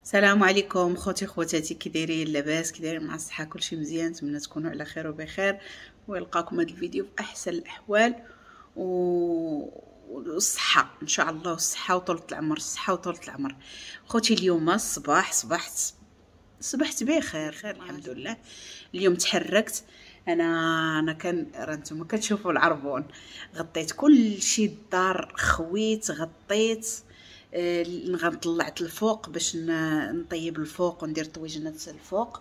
السلام عليكم خوتي خواتاتي، كي دايرين؟ لاباس؟ كي دايرين مع الصحة؟ كلشي مزيان؟ نتمنى تكونوا على خير وبخير ويلقاكم هذا الفيديو في احسن الاحوال والصحة ان شاء الله، والصحة وطولة العمر، الصحة وطولة العمر. خوتي اليوم الصباح صبحت بخير خير الحمد لله. اليوم تحركت انا كان راه نتوما كتشوفوا العربون، غطيت كلشي الدار، خويت غطيت، غنطلعت الفوق باش نطيب الفوق وندير طويجنات الفوق،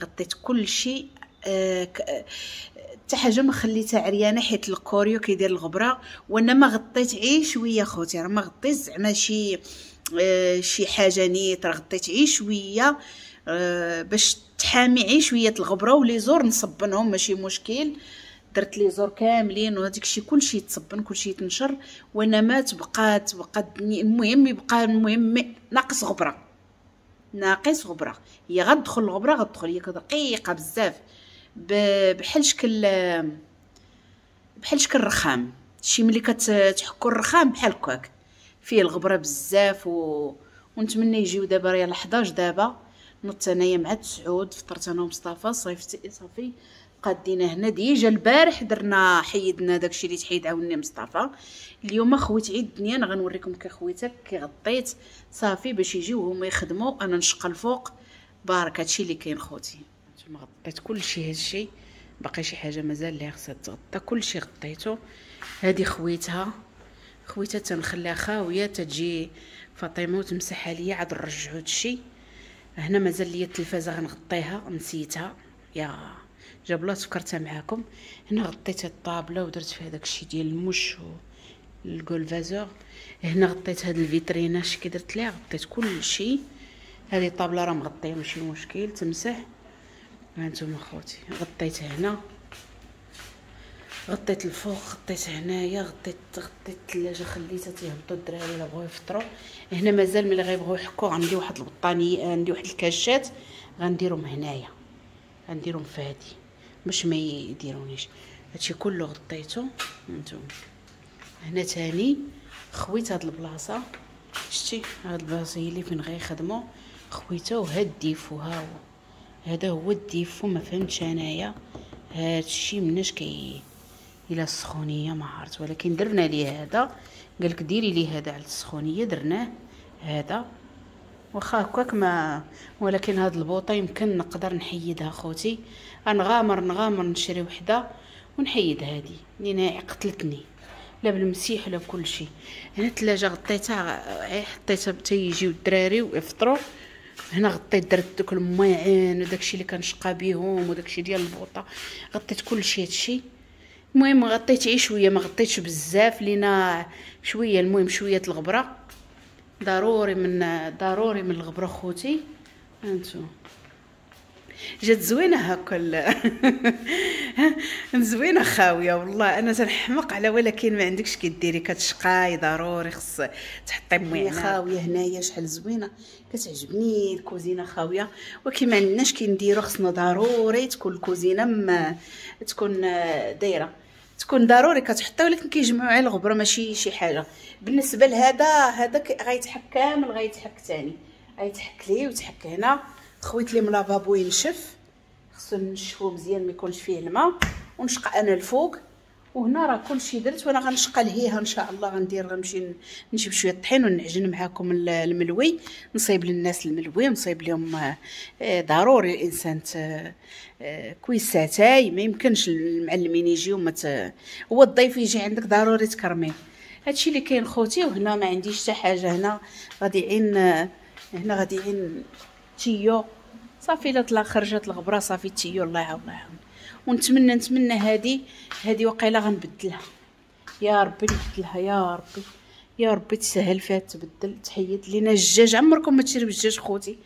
غطيت كلشي، حتى حاجة ما خليتها عريانه حيت الكوريو كيدير الغبرة، وانا ما غطيت عي شوية خوتي، راه ما غطيت زعما شي حاجة نيت، راه غطيت عي شوية باش تحامي عي شوية الغبرة، و les jours نصبنهم ماشي مشكل، درت les jours كاملين وهذاك الشيء كلشي يتصبن كلشي يتنشر، وانا ما تبقى المهم يبقى، المهم ناقص غبرة، ناقص غبرة، هي غتدخل الغبرة غتدخل، هي دقيقة بزاف بحال شكل، بحال شكل الرخام، شي ملي كتحكوا الرخام بحال هكاك فيه الغبرة بزاف. ونتمنى يجيو دابا، راه يلاه 11 دابا، نضت انايا مع 9، فطرت انا ومصطفى، صيفت صافي قادينا هنا. déjà البارح درنا حيدنا داكشي اللي تحيد عاوني مصطفى. اليوم خويت عيد الدنيا، انا غنوريكم كي خويتها كي غطيت صافي باش يجيو هما يخدموا، انا نشقى الفوق بارك. هادشي اللي كاين خوتي، نتوما غطيت كلشي، هادشي باقي شي حاجة مازال ليها خصها تغطى، كلشي غطيته. هادي خويتها خويتها تنخليها خاوية تجي فاطمة وتمسحها ليا، عاد نرجعو هادشي. هنا مازال ليا التلفازه غنغطيها، نسيتها يا جاب الله تفكرتها معاكم. هنا غطيت الطابله ودرت فيها داكشي ديال المش والكولفازور. هنا غطيت هاد الفيترينا اش كي درت ليها، غطيت كلشي. هذه الطابله راه مغطيه ماشي مشكل تمسح. ها نتوما خوتي غطيت هنا، غطيت الفوق، غطيت هنايا، غطيت الثلاجة خليتها تيهبطوا الدراري الا بغاو يفطروا. هنا مازال ملي غيبغيو يحكوا عندي واحد البطانيه، عندي واحد الكاشات غنديرهم هنايا، غنديرهم في هادي باش ما يديرونيش. هادشي كله غطيته نتوما. هنا تاني خويت هاد البلاصة، شتي هاد البلاصة هي اللي فين غيخدموا، خويتها. وهاد ال défaut ها هو، هذا هو ال défaut، ما فهمتش انايا هادشي مناش كي الى السخونيه ما عرفت، ولكن درنا ليه هذا، قالك ديري ليه هذا على السخونيه، درناه هذا واخا هكاك ما، ولكن هاد البوطه يمكن نقدر نحيدها خوتي، نغامر نشري وحده ونحيد هادي لان قتلتني لا بالمسيح ولا بكل شيء. هنا الثلاجة غطيتها، حطيتها حتى يجيو الدراري ويفطروا. هنا غطيت درت دوك المواعين وداكشي اللي كنشقى بيهم وداكشي ديال البوطه، غطيت كلشي هادشي. المهم غطيت عي شوية، ما غطيتش بزاف لينا شوية، المهم شوية الغبرة ضروري من الغبرة خوتي. هانتو جات زوينة هكا زوينة خاوية والله، انا تنحمق على، ولكن ما عندكش كي ديري كتشقاي ضروري خص تحطي موينه خاوية هنايا. شحال زوينة كتعجبني الكوزينة خاوية، ولكن ما عندناش كي نديرو، خصنا ضروري تكون الكوزينة تكون دايرة، تكون ضروري كتحطي، ولكن كيجمعوا على الغبرة ماشي شي حاجة. بالنسبة لهذا، هذا غيتحك كامل، غيتحك ثاني، غيتحك ليه وتحك هنا. خويت لي من لافابو ينشف، خصو نشفو مزيان ما يكونش فيه الماء، ونشقى انا الفوق. وهنا راه كلشي درت، وانا غنشقى لهيها ان شاء الله. غندير غنمشي نجيب شوية الطحين ونعجن معاكم الملوي، نصايب للناس الملوي ونصايب لهم. ضروري الانسان كويساتاي، ما يمكنش المعلمين يجيو هو الضيف يجي عندك ضروري تكرميه. هادشي اللي كاين خوتي. وهنا ما عنديش حتى حاجة، هنا غادي عين، هنا غادي عين tuyau صافي. الا طلع خرجت الغبرة صافي tuyau، الله يعاون الله يعاون. ونتمنى نتمنى هادي وقيله غنبدلها، يا ربي نبدلها، يا ربي يا ربي تسهل فيها تبدل تحيد لينا الدجاج. عمركم ما تشريو الدجاج خوتي،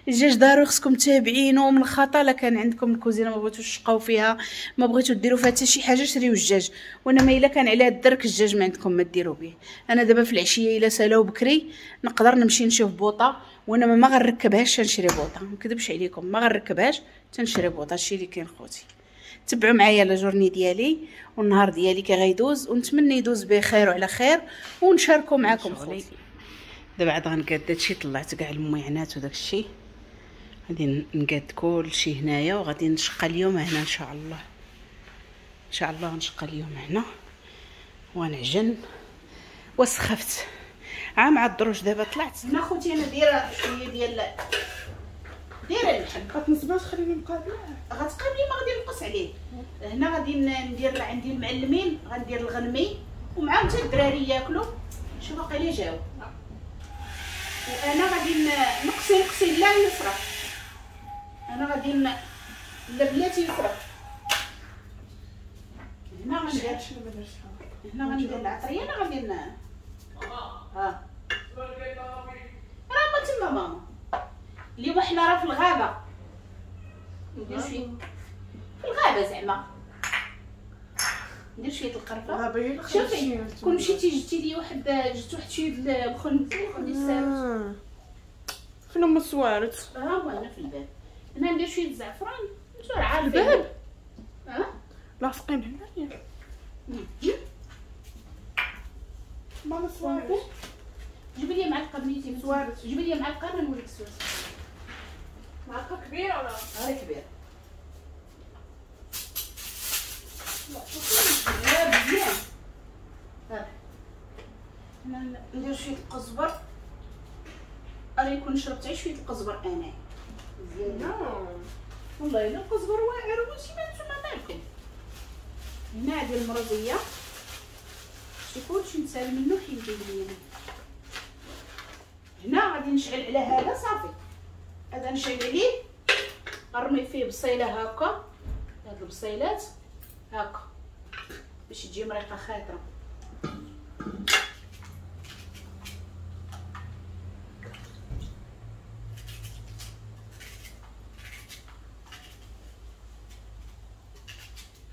الدجاج ضروري خصكم تابعينه من الخطا. لا كان عندكم الكوزينة ما بغيتوش تشقاو فيها، ما بغيتو ديروا فيها حتى شي حاجة، شريو الدجاج. وانا ما الا كان على الدرك الدجاج ما عندكم ما ديروا به. انا دابا في العشية الا سالاو بكري نقدر نمشي نشوف بوطه، وانا ما غنركبهاش تنشري بوطه، ما نكذبش عليكم ما غنركبهاش تنشري بوطه. هادشي اللي كاين خوتي. تبعوا معايا la journée ديالي والنهار ديالي كي غيدوز، ونتمنى يدوز بخير وعلى خير، ونشاركوا معاكم خوتي. دابا عاد غنقاد هادشي، طلعت كاع المعينات وداكشي، غادي نقاد كلشي هنايا وغادي نشقى اليوم هنا ان شاء الله. ان شاء الله غنشقى اليوم هنا ونعجن. وسخفت عام مع الدروج دابا طلعت هنا خوتي. انا دايرة شوية ديال دايرة اللحم، غتنصبها تخليني مقابله، غتقابلي ما غادي نقص عليه. هنا غادي ندير عندي المعلمين، غندير الغنمي ومعاهم حتى الدراري ياكلوا. شوف باقي لي جاو، وانا غادي نقصي نقصي لا يسرى، انا غادي لا بلاتي يسرى. هنا غندير هنا غندير العطريه، انا غادي ها راه ما تما ماما. اليوم حنا راه في الغابة، ندير شوية في الغابة زعما، ندير شوية القرفه. شوفي كون مشيتي جبتي لي واحد، جبت واحد شوية الخنز، خدي الساروت. فين هما السوارت؟ ها هو هنا في الباب. هنا ندير شوية الزعفران، انتو راه عارفين الباب. ها لاصقين هنايا ماما السوارت. جيبي لي معلقه بنيتي سوارت، جيبي لي معلقه انا نوريك السوارت. معلقه كبيرة ولا غير كبيرة؟ لا مزيان. ها هنا ندير شوية القزبر، انا يكون شربت غير شوية القزبر انا مزيان. والله الا القزبر واعر وماشي ما نتوما مالكم. هنا عندي المرضية، شي كلشي نسال منو حيدي ليا. هنا غادي نشعل على هذا صافي، هذا نشعل عليه، نرمي فيه بصيله هكا، هاد البصيلات هكا باش تجي مريقه خاطره.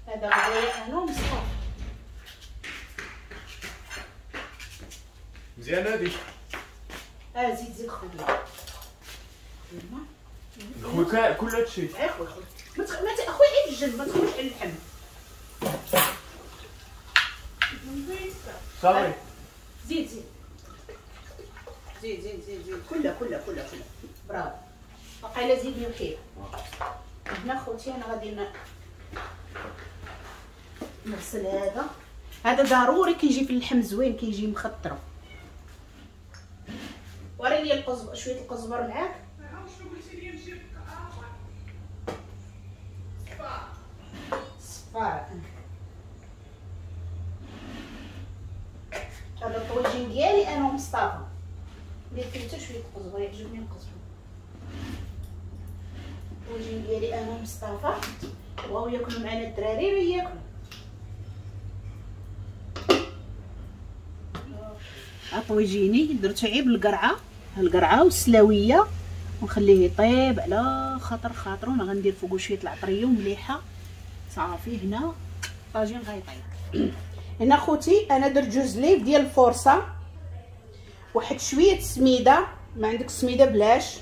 هذا غدايا انا ومصطفى. مزيان هادي. زيد زيد خويا خويا كل هادشي. خويا خويا ما خويا عيد الجنب، ما تخويش على اللحم. صافي زيد زيد زيد زيد زيد زيد كلها كلها كلها كلها. برافو. باقي لا زيدني وحيد. هنا خوتي انا غادي نغسل هذا. هذا ضروري كيجي في اللحم زوين، كيجي مخطر. وري لي القزبر، شوية القزبر معاك. شنو قلتي لي نجيب؟ صفار. هذا الطويجين ديالي انا ومصطفى. ندير فيه حتى شوية القزبر، يعجبني القزبر. الطويجين ديالي انا ومصطفى، بغاو ياكلوا معنا الدراري راه ياكلوا. طويجيني درتو عيب القرعة، القرعة والسلاويه، ونخليه يطيب على خاطر خاطرو. انا غندير فوقو شوية العطريه ومليحه صافي. هنا الطاجين غيطيب. هنا خوتي انا درت جوج ليف ديال الفرصة، واحد شوية سميده، ما عندك سميده بلاش،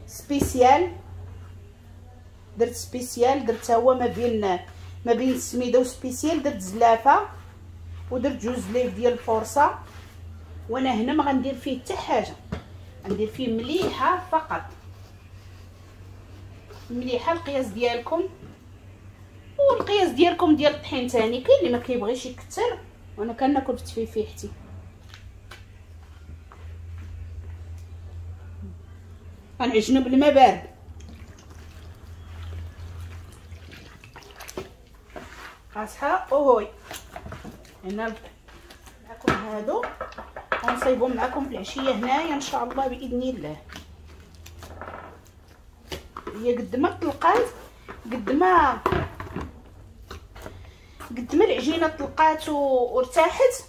spécial درت spécial، درت هو ما بين السميده و spécial، درت زلافه ودرت جوج ليف ديال الفرصة. وانا هنا ما غندير فيه حتى حاجة، غندير فيه مليحة فقط، مليحة القياس ديالكم والقياس ديالكم ديال الطحين ثاني. كاين اللي ما كيبغيش يكثر، وانا كناكل في تفيفيحتي. غنعجنو بالماء بارد. قاصحة اوهوي. هنا معكم هادو غنصايبهم معكم في العشية هنايا ان شاء الله باذن الله. هي قد ما طلقات، قد ما العجينة طلقات وارتاحت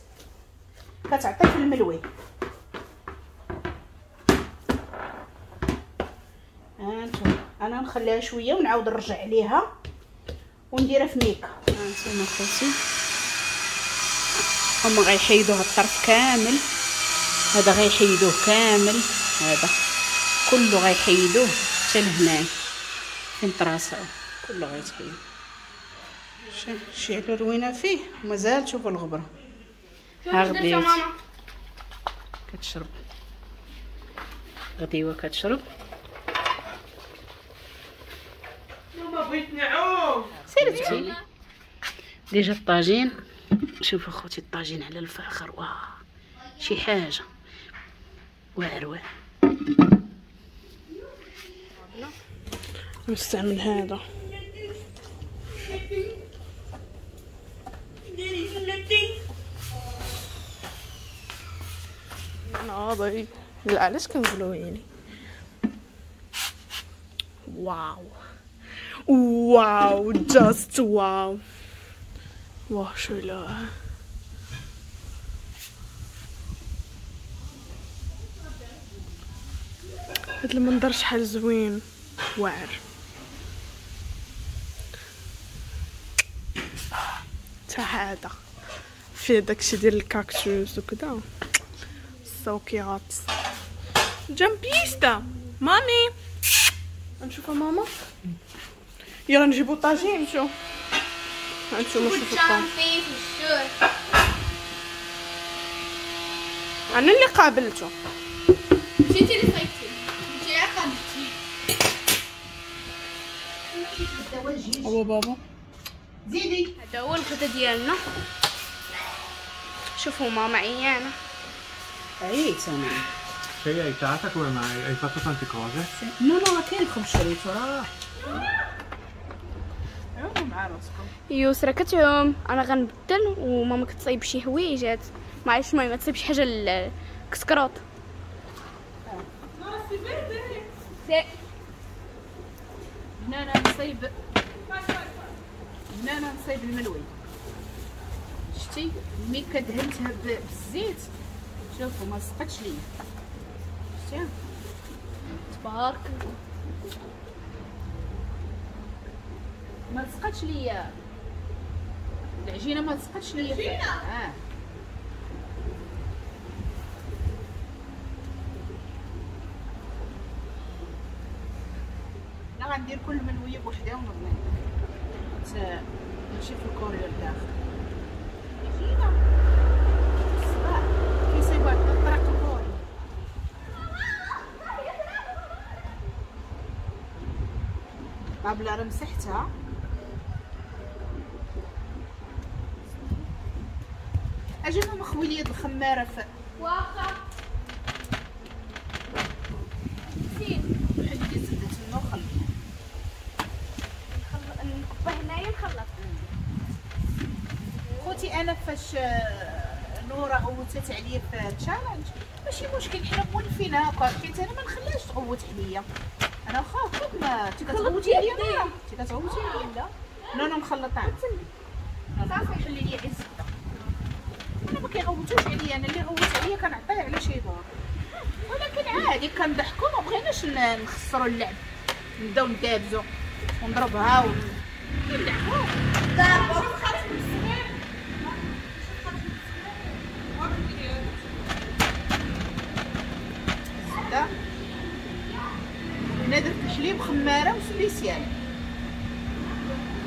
كتعطي في الملوي. هانتوما انا نخليها شوية ونعاود نرجع عليها ونديرها في ميكا. هانتوما خوتي هما غيحيدوه الطرف كامل، هذا غيحيدوه كامل، هذا كله غيحيدوه حتى لهنا فين طراسعو كله غيتحيد. شعلو روينه فيه ومازال تشوفوا الغبرة. ها غديت كتشرب. غديوه كتشرب. ماما بغيت نعوم. سيرتي déjà الطاجين. شوفوا خوتي الطاجين على الفاخر، واه شي حاجة واعر واعر. نستعمل هذا. ناضي. لا علاش كنقولوا يعني wow wow just wow واه شو لا. هاد المنظر شحال زوين واعر. تا هذا فيه داكشي ديال الكاكتوس وكذا. so cute. جامبيستا مامي نشوفها ماما. يلا نجيبو طاجين نمشيو. هانتوما شوفوا الطاجين. انا اللي قابلته. مشيتي اللي صيدتي، مشيتي قابلتي. هو بابا زيدي. هذا هو الغدا ديالنا. شوفوا ماما عيانه. عييت انا. Sei aiutata come mai? Hai fatto tante cose? Sì. No no كاين الخبز شريته راه. عوموا مع راسكم. يسرا كتعوم، انا غنبدل وماما كتصايب شي حويجات. ما عرفتش المهم تصايب شي حاجة للكسكروط. هنا انا نصايب، هنا انا نصايب الملوي. شتي ملي كدهنتها بالزيت شوفوا ما لصقتش ليا. شتي تبارك الله ما لصقتش ليا العجينة، ما لصقتش ليا العجينة. انا غندير كل ملويه بوحدها ونرمي ماشي في الكوريو لداخل. العجينة الصباح كيصيبوها الطريق الكوري. طابله راه مسحتها. اجي ماما خوي لي الخماره في واخا حيدي زبدة النخل. نكبه هنايا نخلط. خوتي انا فاش نورا غوتات عليا في challenge ماشي مشكل، حنا مولفين هكا، حيت انا ما نخليهاش تغوت عليا. انا واخا هكاك ما انت كتغوتي عليا، نورا انت كتغوتي عليا. لا non non مخلطه صافي. خلي لي الزبدة. انا ما كيغوتوش عليا، انا اللي غوت عليا كنعطيه على شي دور، ولكن عادي كنضحكوا، ما بغيناش نخسروا اللعب، نبداو ندابزو ونضربها ونلعبوا. الزبدة هنا درت الحليب خمارة و spécial،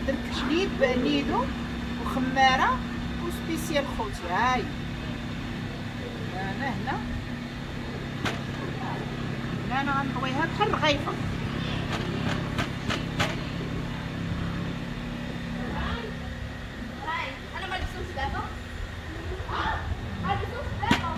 درت الحليب نيدو وخماره و spécial خوتي. هاي انا هنا هنا انا غنطويها بحال الرغيفه. انا ما لبسوش دابا، ما لبسوش دابا.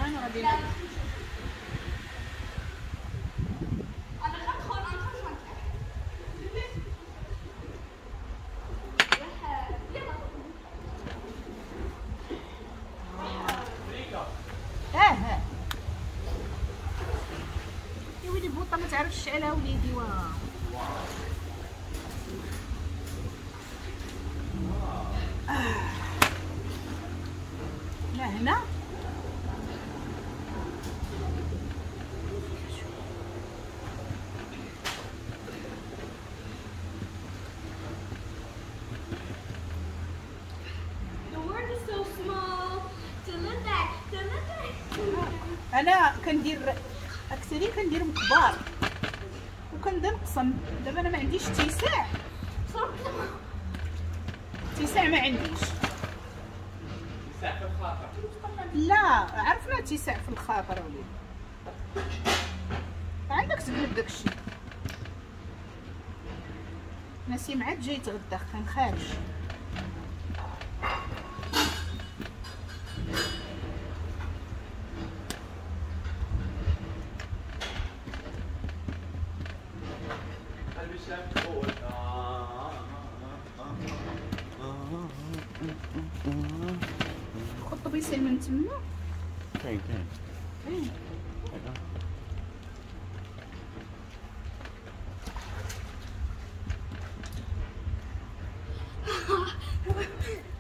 انا غادي يا وليدي بوطه ما تعرفش تشعلها وليدي. واه لا هنا انا كندير كنشتري كنديرهم كبار وكنبدا نقسم. دابا انا ما عنديش تيساع، تيساع ما عنديش. تيساع في الخاطر؟ لا عرفنا تيساع في الخاطر وليد، عندك تقلب داكشي. نسيم عاد جاي يتغدى كان خارج. خد طبيسين من تما. كاين كاين كاين.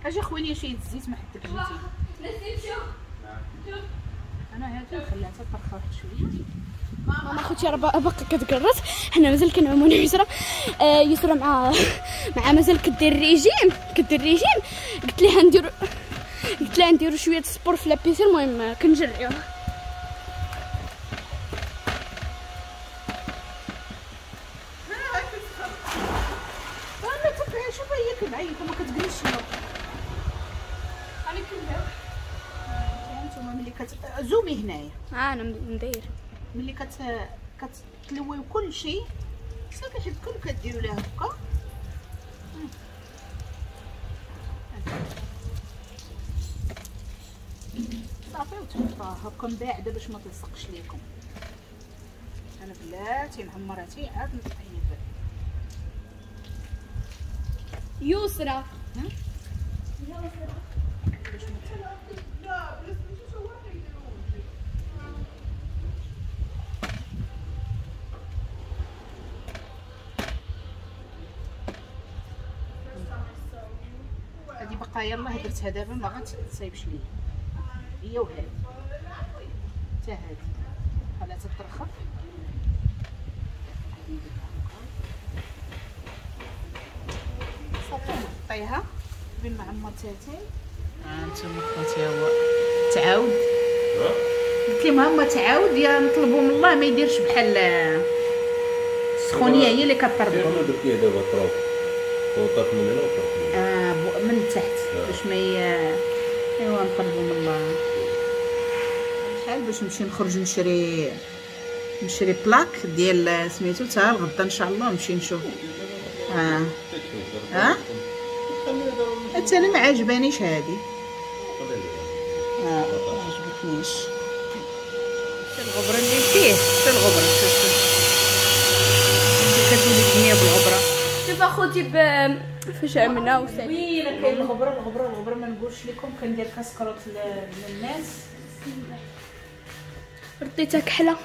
اجي خويا شي الزيت ما حدك جيتي. نسيم شوف شوف، انا هادي نخليها تطرخ واحد شوية. ماما خوتي راه باقا كتقرص، حنا مازال كنعومو انا ويسرا. يسرا مع مازال كدير الريجيم، كدير الريجيم. قلت لها نديرو، قلت لها نديرو شوية sport في la piscine. المهم كنجريو. انا تبعي شوف هي كنعيط وما كتجلسش. انا كنبدا انتما ملي كتزومي هنايا. انا ندير ملي كتلويو كلشي صافي، حيت كل كديروا لها هكا. صافي وتحطوها هكا مباعده باش ما تلصقش ليكم. انا بلاتي نعمرها عاد نطيب. يسرا هادي بقى يلاه درتها دابا ما غتصايبش ليا هي وهادي حتى هادي خليها تترخف. صافي نغطيها بين ما عمرتها تاي. هانتوما خوتي هو تعاود، قلت لهم هما تعاود يا نطلبوا من الله ما يديرش بحال السخونيه هي اللي كطربوا. كيف درتيه دابا طروف وطرف من هنا وطرف من هنا من التحت باش ما ايوا نطلبوا من الله. شحال باش نمشي نخرج نشري plaque ديال سميتو تا الغدا ان شاء الله نمشي نشوف. حتى انا ما عجبانيش هادي، ما عجبتنيش. الغبرة اللي فيه، شوف الغبرة، شوف كتولي الدنيا بالغبره. شوف اخوتي فاش عملنا وسالي وينه كاين الغبرة الغبرة الغبرة. ما نقولش لكم كندير كاسكروت للناس، رديتها كحلة.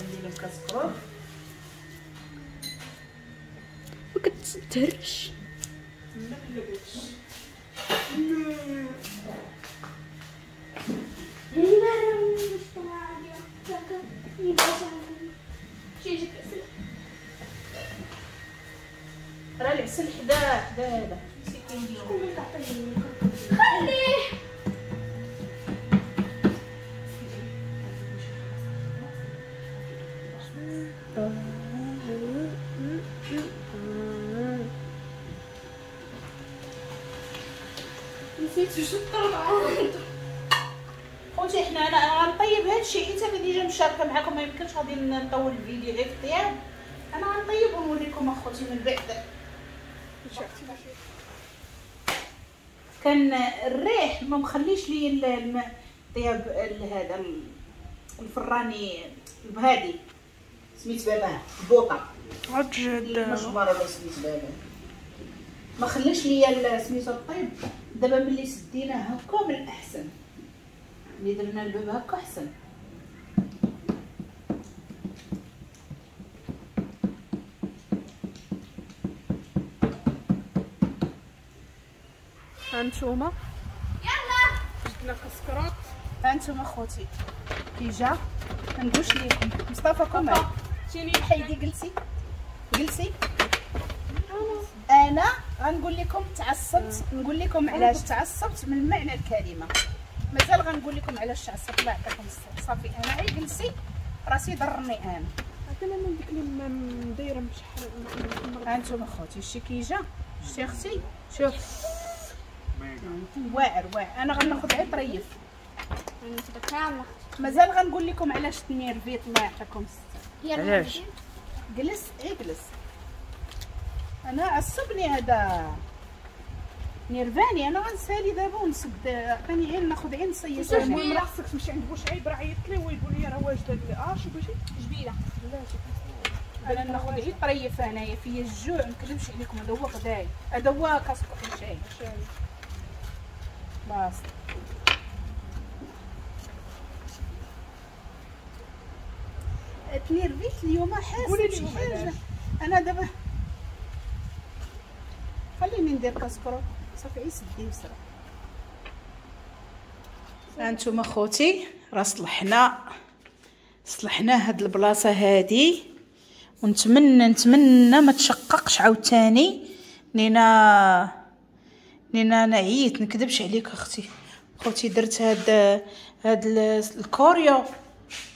ندير لهم كاسكروت ما كتهرش. راه العسل حدا حدا هذا. خليه نسيت واش الطربعه. خوتي حنا انا غنطيب هادشي حيت انا déjà مشاركة معكم، ما يمكنش غادي نطول الفيديو غير في الطياب. انا غنطيب ونوريكم اخوتي من بعد. كان الريح ما مخليش لي الطياب هذا الفراني بهادي سميت باباه البوطه عجل المجمره ولا سميت باباه، ما خلاش ليا سميتو الطيب. دابا ملي سديناه هكا من الاحسن، ملي درنا الباب هكا احسن. هانتوما يلا جبنا كسكروت. هانتوما خوتي كي جا ما نقولش ليكم. مصطفى كوم حيدي جلسي جلسي. انا غنقول لكم تعصبت، نقول لكم علاش تعصبت من معنى الكلمة. مازال غنقول لكم علاش تعصبت. الله يعطيكم الصحة. صافي انا غير جلسي راسي ضرني انا. عطينا من ديك اللي دايرة بشحال. ها انتم اخوتي شتي كي جا، شتي اختي شوف واعر واعر. انا غناخذ غير طريف مازال غنقول لكم علاش تنيرفيت. الله يعطيكم الستر. علاش؟ جلس اجلس. انا عصبني هذا نيرفاني. انا غنسالي دابا ونسد، عطيني غير ناخذ غير نصيص. المهم راه خصك تمشي عند بوشعيب، راه عيط لي ويقول لي راه واجدة. شو بغيتي؟ جبيله. انا ناخذ غير طريف. انايا فيا الجوع ما نكذبش عليكم. هذا هو غداي، هذا هو كاسكو شاي باص. تنيرفيت اليوم حاسه بشي حاجة. انا دابا خليني ندير كاسكرو صافي عيسدي بسرعة. هانتوما خوتي راه صلحنا هاد البلاصة هادي، ونتمنى نتمنى ما تشققش عاوتاني. لينا انا عييت نكذبش عليك اختي خوتي. درت هاد الكوريو،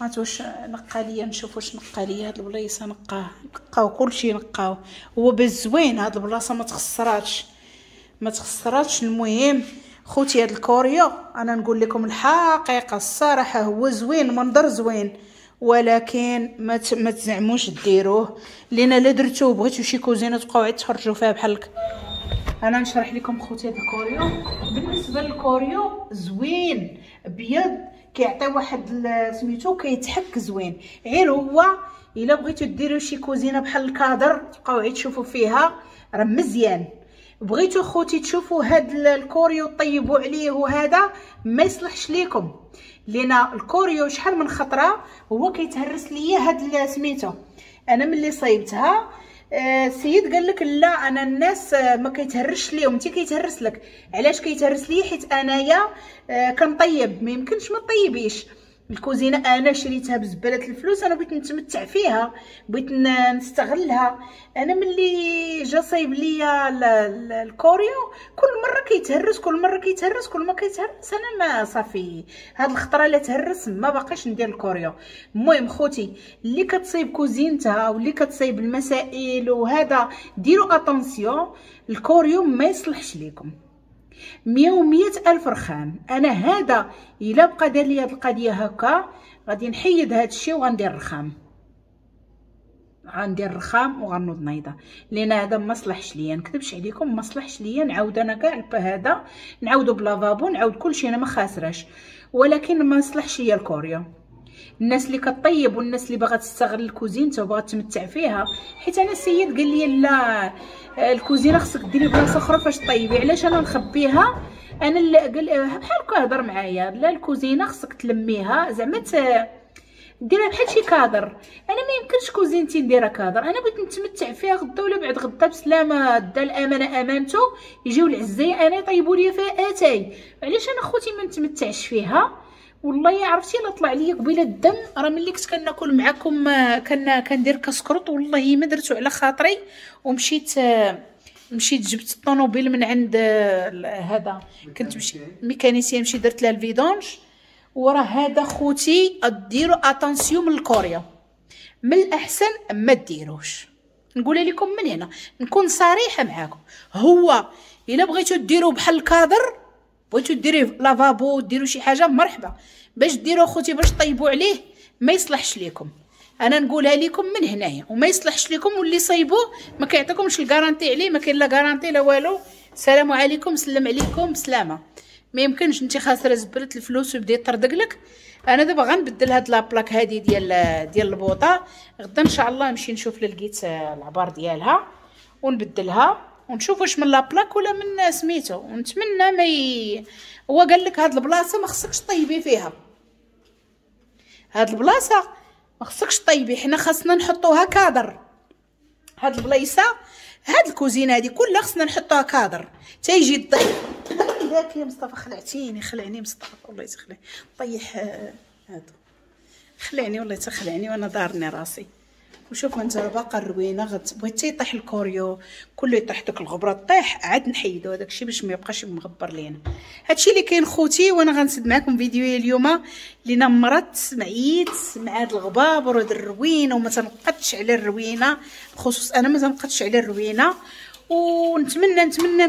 ما واش نقى ليا، نشوف واش نقى ليا هاد البلايصه. نقاو كلشي نقاو، هو بالزوين هاد البلاصة ما تخسراتش ما تخسراتش. المهم خوتي هاد الكوريو انا نقول لكم الحقيقة الصراحة هو زوين، منظر زوين، ولكن ما تزعموش ديروه، لان لا درتوه بغيتو شي كوزينه تبقاو عاد تخرجوا فيها بحال هكا. انا نشرح لكم خوتي هاد الكوريو. بالنسبة للكوريو زوين ابيض، كيعطي واحد سميتو كيتحك زوين. غير هو الا بغيتو ديروا شي كوزينه بحال الكادر تبقاو عاد تشوفوا فيها راه مزيان. بغيتو خوتي تشوفوا هاد الكوريو طيبوا عليه وهذا ما يصلحش ليكم، لان الكوريو شحال من خطره هو كيتهرس ليا هاد سميتو. انا ملي صايبتها السيد قال لك لا انا الناس ما كيتهرش ليهم، انت كيتهرس لك. علاش كيتهرس لي؟ حيت انايا كنطيب، ما يمكنش ما طيبيش. الكوزينة انا شريتها بزباله الفلوس، انا بغيت نتمتع فيها، بغيت نستغلها. انا ملي جا صايب ليا الكوريو كل مرة كيتهرس، كل مرة كيتهرس، كل ما كيتهرس. انا ما صافي هاد الخطرة لا تهرس ما باقيش ندير الكوريو. المهم خوتي اللي كتصايب كوزينتها واللي كتصايب المسائل وهذا ديروا attention، الكوريو ما يصلحش ليكم. 100 ألف رخام. انا هذا الا بقى دار لي هاد القضية هكا غادي نحيد هاد الشيء وغندير الرخام، غندير الرخام وغنوض نايضه، لان هذا ما صلحش ليا. نكذبش عليكم ما صلحش ليا. نعاود انا كاع هذا نعاودو ب lavabo، نعاود كلشي، انا ما خاسراش، ولكن ما صلحش ليا الكوريو. الناس اللي كطيب والناس اللي باغا تستغل الكوزينة وباغا تمتع فيها، حيت انا السيد قال لي لا الكوزينة خصك ديري بلاصة اخرى فاش طيبي. علاش انا نخبيها؟ انا اللي قال بحال هكا هضر معايا، لا الكوزينة خصك تلميها زعما ديرها بحال شي كادر. انا ما يمكنش كوزينتي نديرها كادر، انا بغيت نتمتع فيها غدا ولا بعد غدا بسلامه. دا الامانة امانته، يجيو العزايه انا يطيبوا لي فيها اتاي. علاش انا خوتي ما نتمتعش فيها؟ والله عرفتي الا طلع لي قبيلة الدم. راه ملي كنت كناكل معكم كندير كسكروط، والله ما درتو على خاطري، ومشيت مشيت جبت الطوموبيل من عند هذا، كنت مشي mécanicien، مشيت درت لها ال vidange. وراه هذا خوتي ديروا attention من الكوريا، من الاحسن ما ديروش. نقول لكم من هنا نكون صريحه معاكم، هو الا بغيتو ديروا بحال الكادر، بغيتو ديروا لافابو ديروا شي حاجة مرحبا، باش ديروا خوتي باش طيبوا عليه ما يصلحش لكم. انا نقولها لكم من هنايا وما يصلحش لكم، واللي صايبوه ما كيعطيكمش ال garantie عليه، ما كاين لا garantie لا والو. السلام عليكم، سلم عليكم، بسلامه. ما يمكنش انت خاسرة زبله الفلوس ويبدا يطردق لك. انا دابا غنبدل هاد la plaque هادي ديال البوطه، غدا ان شاء الله نمشي نشوف لقيت العبار ديالها ونبدلها ونشوف واش من la plaque ولا من سميتو. ونتمنى ما هو قال لك هاد البلاصة ما خصكش طيبي فيها، هاد البلاصة ما خصكش طيبي، حنا خاصنا نحطوها كادر. هاد البلايصه هاد الكوزينة هادي كلها خصنا نحطوها كادر تيجي الضيف. ذاك يا مصطفى خلعتيني، خلعني مصطفى والله تخلع، طيح هادو خلعني والله تخلعني وانا دارني راسي. وشوفوا انت راه باقا الروينه، بغيت يطيح الكوريو كله يطيح داك الغبرة طيح عاد نحيدو هذاك الشيء باش ما يبقاش مغبر لينا. هادشي اللي كاين خوتي، وانا غنسد معكم فيديو اليوم لينا مرضت معيت مع هاد الغبابر وهاد الروينه، وما تنقدش على الروينه، بخصوص انا ما تنقدش على الروينه. ونتمنى نتمنى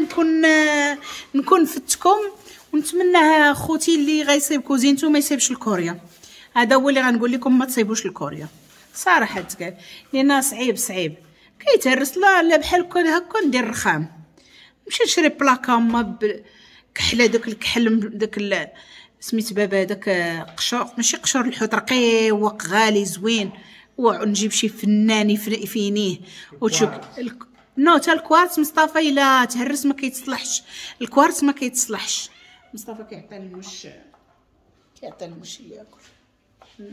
نكون فتكم، ونتمنى خوتي اللي غيصيب كوزينتو ما يصيبش الكوريا. هذا هو اللي غنقول لكم، ما تصيبوش الكوريا صراحة تقال، لان صعيب صعيب كيتهرس. لا لا بحال هكا ندير رخام، نمشي نشري بلاكا ما كحلة، داك الكحل داك سميت بابا داك قشور، ماشي قشور الحوت، رقيق غالي زوين، ونجيب شي فنان يفينيه وتشوف. no تا الكوارتز مصطفى الا تهرس ما كيتصلحش، الكوارتز ما كيتصلحش. مصطفى كيعطي المش، كيعطي المش ياكل.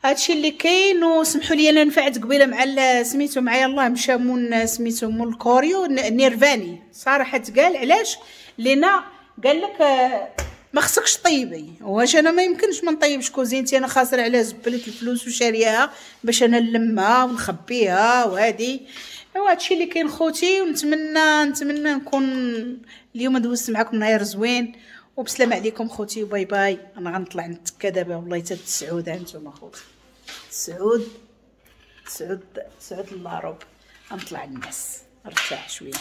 هادشي اللي كاين. وسمحوا لي انا نفعت قبيلة مع سميتو معايا الله مشى مون سميتو مول الكوريو نيرفاني صراحة تقال. علاش؟ لينا قال لك ما خصكش طيبي، واش انا ما يمكنش ما نطيبش كوزينتي، انا خاسرة على زبله الفلوس وشارياها باش انا نلمها ونخبيها وهادي. ايوا هادشي اللي كاين خوتي، ونتمنى نتمنى نكون اليوم دوزت معكم نهار زوين، وبسلام عليكم خوتي و bye bye. انا غنطلع نتكا دابا والله حتى 9 هانتوما خوتي، 9 9 9 الا ربع غنطلع الناس نرتاح شوية.